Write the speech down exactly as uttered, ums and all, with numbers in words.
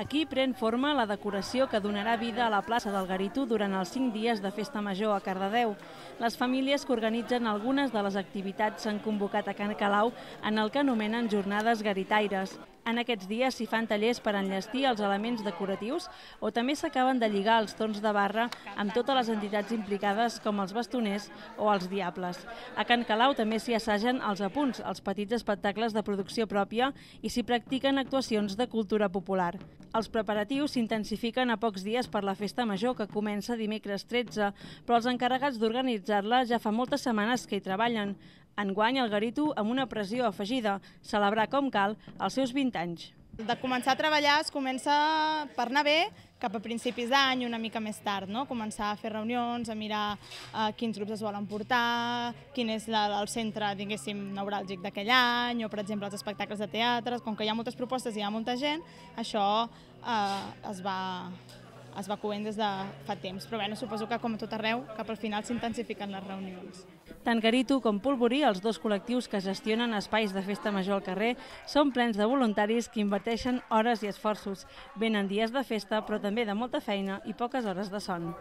Aquí pren forma la decoració que donarà vida a la plaça del Garitu durant els cinc dies de Festa Major a Cardedeu. Les famílies que organitzen algunes de les activitats s'han convocat a Can Calau en el que anomenen jornades garitaires. En aquests dies s'hi fan tallers per enllestir els elements decoratius o també s'acaben de lligar els torns de barra amb totes les entitats implicades com els bastoners o els diables. A Can Calau també s'hi assagen els apunts, els petits espectacles de producció pròpia i s'hi practiquen actuacions de cultura popular. Els preparatius s'intensifiquen a pocs dies per la Festa Major, que comença dimecres tretze, però els encarregats d'organitzar-la ja fa moltes setmanes que hi treballen. Enguany el Garitu amb una pressió afegida, celebrar com cal els seus vint anys. De començar a treballar es comença per anar bé cap a principis d'any, una mica més tard, no? Començar a fer reunions, a mirar eh, quins grups es volen portar, quin és la, el centre, diguéssim, neuràlgic d'aquell any, o per exemple els espectacles de teatre. Com que hi ha moltes propostes i hi ha molta gent, això eh, es va... es va coent des de fa temps, però bé, suposo que com a tot arreu, cap al final s'intensifiquen les reunions. Tant Garitu com Polvorí, els dos col·lectius que gestionen espais de festa major al carrer, són plens de voluntaris que inverteixen hores i esforços. Venen dies de festa, però també de molta feina i poques hores de son.